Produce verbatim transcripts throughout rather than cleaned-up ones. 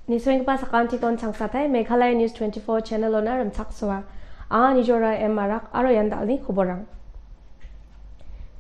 Nisenggipa sakantikon changsatai Meghalaya News twenty-four channel-ona rimchaksoa. Anga Nijora M Marak aro ian dalni koborang.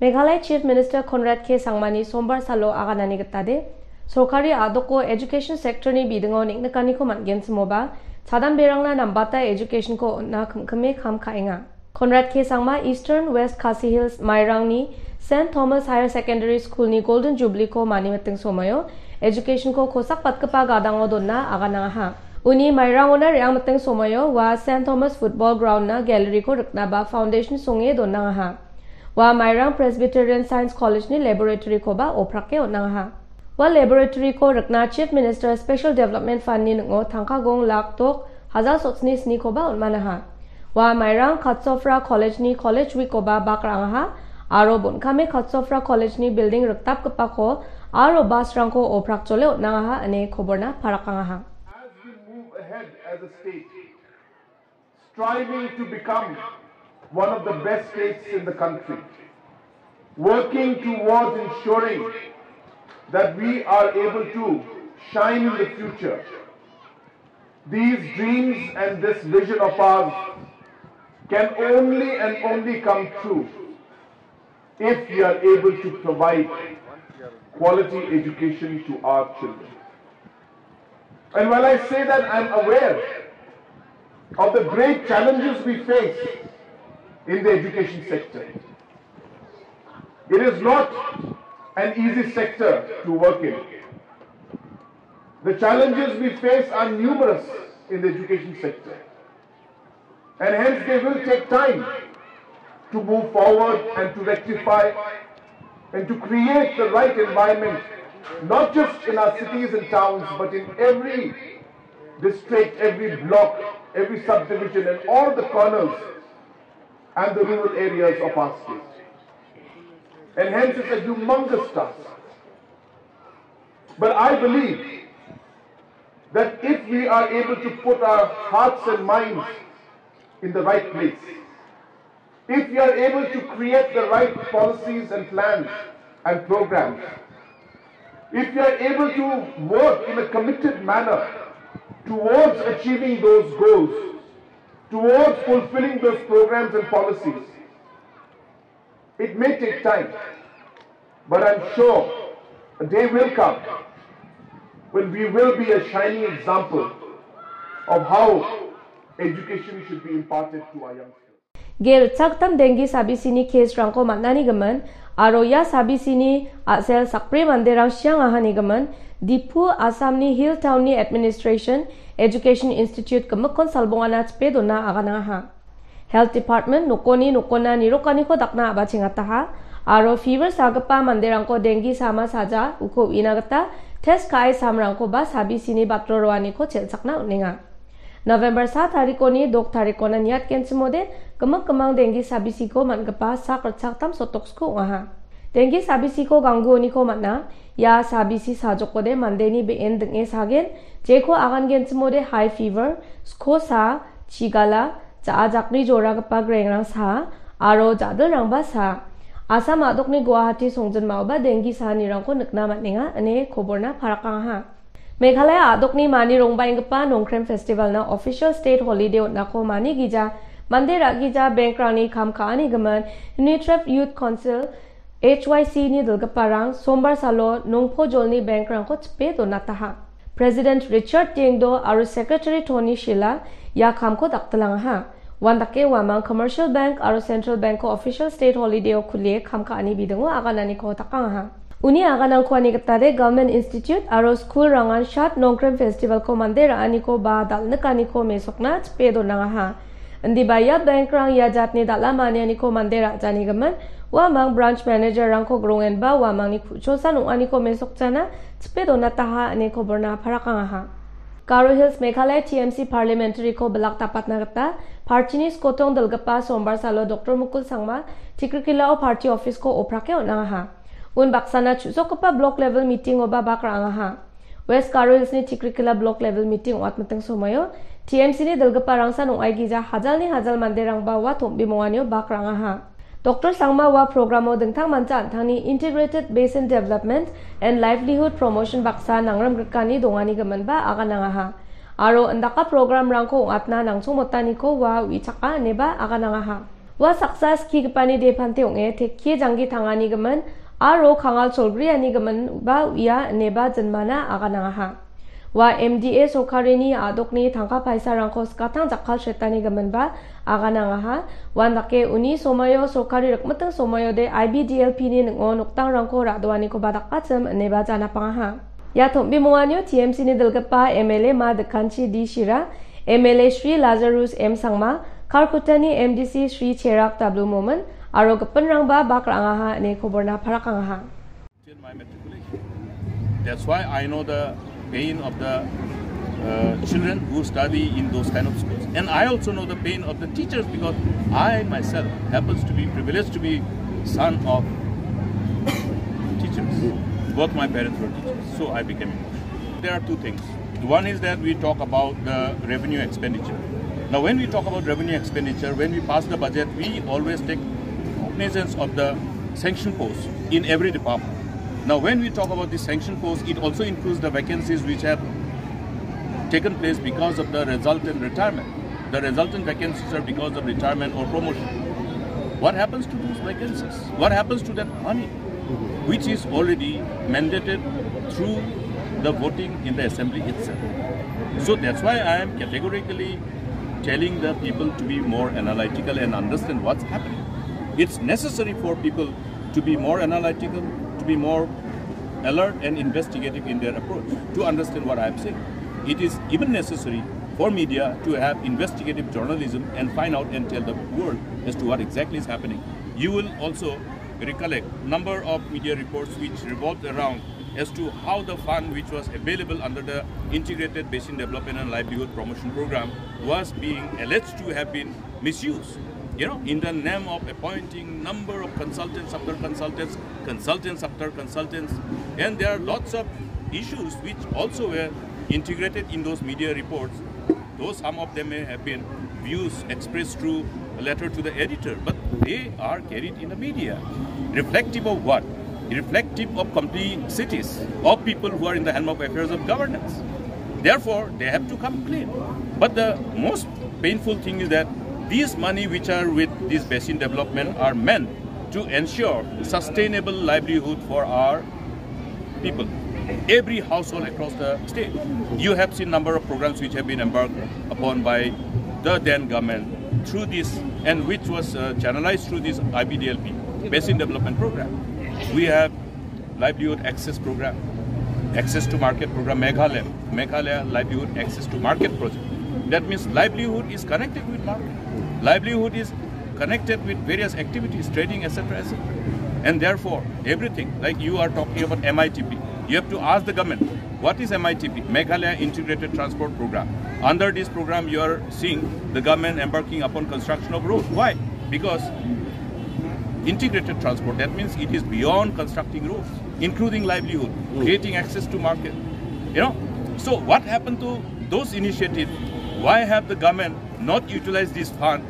Meghalaya Chief Minister Conrad K Sangmani Sombar salo aganani gitade, sorkari a·doko education sector-ni bidingo neng·nikaniko man·genchimoba, chadanberangna nambata education-ko on·na kim·kime kam ka·enga. Conrad K Sangma Eastern West Khasi Hills Mairangni Saint Thomas Higher Secondary School-ni Golden Jubilee-ko mani miting somoio education-ko kosakbatgipa gadango donna aganangaha. Uni Mairangona re·angmiting somoio ua Saint Thomas Football Ground-na gallery-ko riknaba foundation songe donnangaha. Ua Mairang Presbyterian Science College-ni laboratory-koba oprake on·angaha. Ua laboratory-ko rikna Chief Minister Special Development Fund-ni ning·o tangka gong lak dok hajal sotsni snikoba on·manaha. Ua Mairang Katsofra College-ni College Week-koba bak ra·angaha aro bon·kame Katsofra College-ni building rikdapgipako aro bus-rangko oprakjole on·angaha ine koborna parakangaha. As we move ahead as a state, striving to become one of the best states in the country, working towards ensuring that we are able to shine in the future. These dreams and this vision of ours can only and only come true if we are able to provide quality education to our children. And while I say that, I'm aware of the great challenges we face in the education sector. It is not an easy sector to work in. The challenges we face are numerous in the education sector. And hence they will take time to move forward and to rectify and to create the right environment, not just in our cities and towns, but in every district, every block, every subdivision, and all the corners and the rural areas of our state. And hence it's a humongous task. But I believe that if we are able to put our hearts and minds in the right place, if we are able to create the right policies and plans and programs, if we are able to work in a committed manner towards achieving those goals, towards fulfilling those programs and policies, it may take time, but I'm sure a day will come when we will be a shining example of how education should be imparted to our young people. Ge ritchaktam denggi sabisini case-rangko man·ani gimin, aro ia sabisini a·sel sakbri manderang siangahani gimin, Diphu, Assamni Hill Town-ni Administration Education Institute gimikkon salbongana chipe dona aganangaha. Health Department nokoni nokona nirokaniko dakna a·bachengataha, aro fever sagipa manderangko denggi sama saja uko uina gita test ka·e samrangkoba sabisini batro roaniko chelchakna on·enga. November sa tarikoni dok tarikona niatgenchimode gimik gimang denggi sabisiko man·gipa sak ritchaktam sotoksko ong·aha. Denggi sabisiko gangguoniko man·a. Ia sabisi sajokode mandeni be·en ding·e sagen, jeko agangenchimode high fever, skosa, chigala, ja·a jakri joragipa grengrang saa, aro ja·dilrangba saa. Assam a·dokni Guwahati songjinmaoba denggi saanirangko nikna man·enga, ine koborna parakangaha. Meghalaya a·dokni mani rongbaenggipa Nongkrem Festival-na official state holiday on·ako mani gija, mande ra·gija bankrangni kam ka·ani gimin, Unitref Youth Council, H Y C-ni dilgiparang sombar salo nongpojolni bankrangko chipe donataha. President Richard Diengdo aro Secretary Tony Shila ia kamko daktilangaha. Uandake uamang Commercial Bank aro Central Bank-ko official state holiday-o kulie kam ka·ani bidingo agananiko dakangaha. Uni aganangko ani gitade Government Institute aro school-rangan Shat Nongkrem Festival-ko mande ra·aniko ba dal·nikaniko mesokna chipe donangaha. Indiba ia bankrang ia jatni dal·a manianiko mande ra·janigimin, uamang branch manager-rangko grongenba uamangni ku·chosan ong·aniko mesokjana chipe donataha ine koborna parakangaha. Garo Hills Meghalaya T M C parliamentary-ko bilak dapatna gita party-ni skotong dilgipa sombar salo Doctor Mukul Sangma Tikrikilao party office-ko oprake on·angaha. Unbaksana chu·sokgipa block level meeting-oba bak ra·angaha. West Garo Hills-ni Tikrikila block level meeting ong·atmiting somoio T M C-ni dilgiparangsan ong·aigija hajalni hajal manderangba ua tombimonganio bak ra·angaha. Doktor Sangma ua programo dingtang mancha an·tangni Integrated Basin Development and Livelihood Promotion baksa nangrimgrikani dongani giminba aganangaha. Aro indaka programrangko ong·atna nangchongmotaniko ua uichaka ineba aganangaha. Ua saksa skigipani depante ong·e tekke janggi tangani gimin aro kangal cholgriani gimin ba uia ineba jinmana aganangaha. Ua M D A sorkarini a·dokni tangka paisarangko skatang jakkalchetani giminba aganangaha. Uandake uni somoio sorkari rikmiting somoiode I B D L P ni ning·o nokdangrangko ra·doanikoba dakachim ineba janapangaha. Ia tom·bimonganio T M C ni dilgipa M L A Ma Dikkanchi D Shira, M L A Shri Lazarus M Sangma, Kharkutani M D C Shri Cherak W Momin aro gipinrangba bak ra·angaha ine koborna parakangaha. In my matriculation. That's why I know the pain of the uh, children who study in those kind of schools. And I also know the pain of the teachers because I myself happens to be privileged to be son of teachers. Both my parents were teachers, so I became emotional. There are two things. One is that we talk about the revenue expenditure. Now, when we talk about revenue expenditure, when we pass the budget, we always take cognizance of the sanction post in every department. Now, when we talk about the sanction post, it also includes the vacancies which have taken place because of the resultant retirement. The resultant vacancies are because of retirement or promotion. What happens to those vacancies? What happens to that money, which is already mandated through the voting in the assembly itself? So that's why I am categorically telling the people to be more analytical and understand what's happening. It's necessary for people to be more analytical, to be more alert and investigative in their approach, to understand what I am saying. It is even necessary for media to have investigative journalism and find out and tell the world as to what exactly is happening. You will also recollect number of media reports which revolved around as to how the fund which was available under the Integrated Basin Development and Livelihood Promotion Program was being alleged to have been misused. You know, in the name of appointing number of consultants after consultants, consultants after consultants, and there are lots of issues which also were integrated in those media reports. Though some of them may have been views expressed through a letter to the editor, but they are carried in the media. Reflective of what? Reflective of complexities of people who are in the helm of affairs of governance. Therefore, they have to come clean. But the most painful thing is that these money which are with this basin development are meant to ensure sustainable livelihood for our people, every household across the state. You have seen number of programs which have been embarked upon by the then government through this, and which was uh, channelized through this I B D L P, Basin Development Program. We have Livelihood Access Program, Access to Market Program, Meghalaya, Meghalaya Livelihood Access to Market Project. That means livelihood is connected with market. Livelihood is connected with various activities, trading, et cetera, et cetera. And therefore, everything, like you are talking about M I T P, you have to ask the government, what is M I T P? Meghalaya Integrated Transport Program. Under this program, you are seeing the government embarking upon construction of road. Why? Because integrated transport, that means it is beyond constructing roads, including livelihood, creating access to market. You know, so what happened to those initiatives? Why have the government not utilized this fund?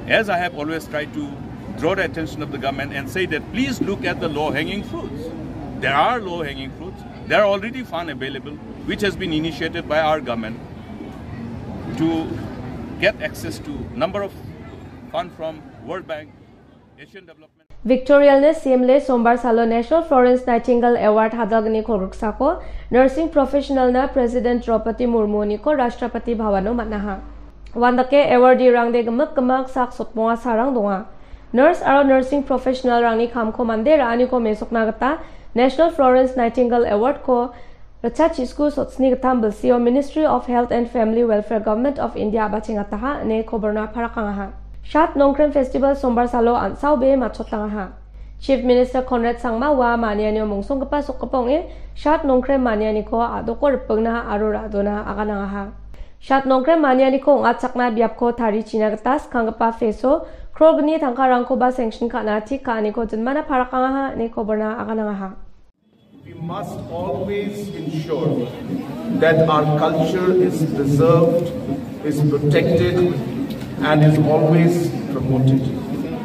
As I have always tried to draw the attention of the government and say that please look at the low-hanging fruits. There are low-hanging fruits. There are already fund available, which has been initiated by our government to get access to number of fund from World Bank, Asian Development. Victorialni simle sombar salo National Florence Nightingale Award hadalgni kolgriksako nursing professionalna President Draupadi Murmuniko Rashtrapati Bhavano man·aha. Uandake awardee-rangde gimik gimak sak sotmonga sarang donga. Nurse aro nursing professional-rangni kamko mande ra·aniko mesokna gita National Florence Nightingale Award-ko ritchasku sotsni gittam bilsio Ministry of Health and Family Welfare Government of India a·bachengataha ine koborna parakangaha. Shat Nongkrem Festival sombar salo an·saobe matchotangaha. Chief Minister Conrad Sangma ua manianio mongsonggipa sokgipa ong·e Shat Nongkrem manianiko a·doko ripingna aro ra·dona aganangaha. Shat Nongkrem manianiko ong·atchakna biapko tarichina gita skanggipa feso krogni tangkarangkoba sanction ka·na tik ka·aniko jinmana parakangaha ine koborna aganangaha. We must always ensure that our culture is preserved, is protected, and is always promoted.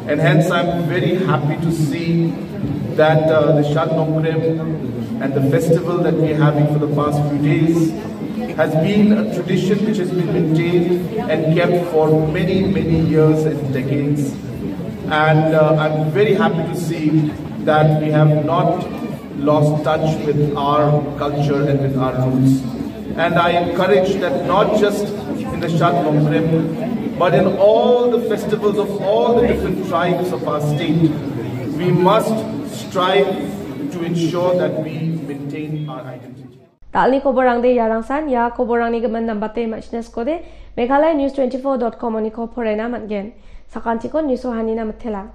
And hence, I'm very happy to see that uh, the Shad Nongkrem and the festival that we're having for the past few days has been a tradition which has been maintained and kept for many, many years and decades. And uh, I'm very happy to see that we have not lost touch with our culture and with our roots. And I encourage that not just in the Shad Nongkrem, but in all the festivals of all the different tribes of our state, we must strive to ensure that we maintain our identity. Dal·ni koborangde iarangsan, ia koborangni gimin nambate ma·sina skode, Meghalaya News twenty-four dot com oniko porena man·gen. Sakantikon news-o hanina mitela.